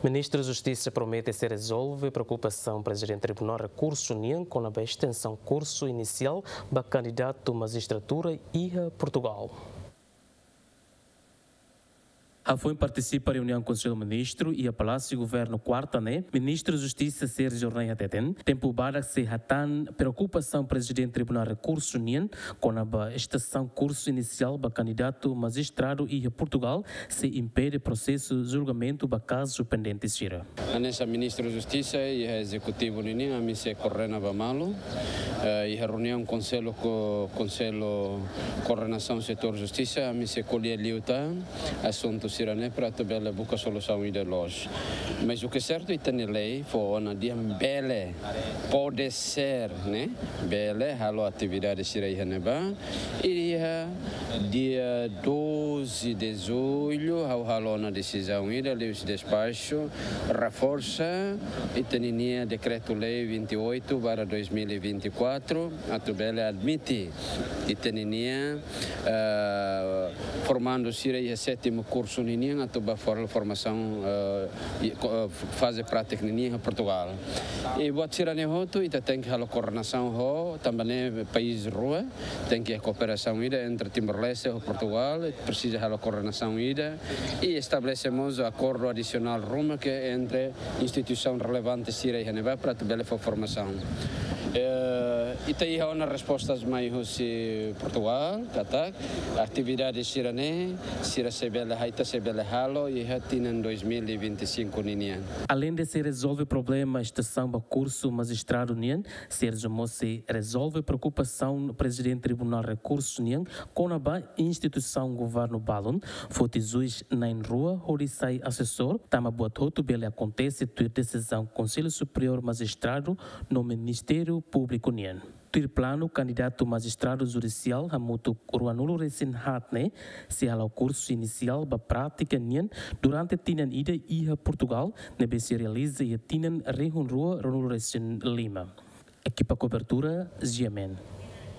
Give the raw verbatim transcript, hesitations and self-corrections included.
Ministru Justisa promete sei rezolve preokupasaun Prezidente Tribunál Rekursu nian kona-ba estensaun kursu inisiál ba kandidatu majistratura iha Portugal. Hafoin partisipa reuniaun Konsellu Ministru iha Palásiu Governu kuarta ne'e, Ministru Justisa Sérgio Rei hateten, tempu badak sei hatán preokupasaun Prezidente Tribunál Rekursu nian kona-ba estensaun kursu inisiál ba kandidatu majistradu iha Portugal sei impede prosesu julgamentu ba kazu pendente sira. Hanesan Ministru Justisa iha Ezekutivu ninian, ami sei koordena ba malu. Eh, iha reuniaun Konsellu ko-, Konsellu Koordenasaun Setór Justisa, ami sei ko'alia liután asuntu sira-ne'e para atu bele buka solusaun ida loos. Mas o que é certo, ita-nia lei fó ona dehan bele, pode ser, ne'e, bele halo atividade sira iha ne'ebá. Iha dia doze de julho, ha'u halo ona desizaun ida, liuhusi despaxu, reforsa ita-ninia Dekretu-Lei vinte e oito barra dois mil e vinte e quatro, atu bele admite ita-ninia, eh, formandu sira iha sétimu kursu ninian atu ba for-, formasaun, eh, i-, ko-, eh, faze prátika ninian iha Portugal. I buat sira-ne'e hotu, ita tenke halo koordenasaun ho, tanba ne'e país rua, tenke kooperasaun ida entre Timor-Leste ho Portugal, presiza halo koordenasaun ida, i estabelese mós akordu adisionál ruma ke entre instituisaun relevante sira iha ne'ebá para atu bele fó formasaun. Eh, ita iha ona respostas mai husi Portugal, katak atividade sira-ne'e, sira sei bele, ita sei bele halo iha tinan dois mil e vinte e cinco ninian. Aleinde sei rezolve problema estensaun ba kursu majistradu nian, Sérgio mós sei rezolve preokupasaun Prezidente Tribunál Rekursu nian kona-ba instituisaun governu balun, foti juís na'in-rua hodi sai asesór, tanba buat hotu bele akontese tuir desizaun Konsellu Superiór Majistradu no Ministériu Públiku nian. Tuir planu, kandidatu majistradu judisiál hamutuk ruanulu-resin-haat ne'e sei hala'o kursu inisiál ba prátika nian durante tinan ida iha Portugal, ne'ebé sei realiza iha tinan rihun rua ruanulu-resin-lima. Ekipa kobertura, G M N.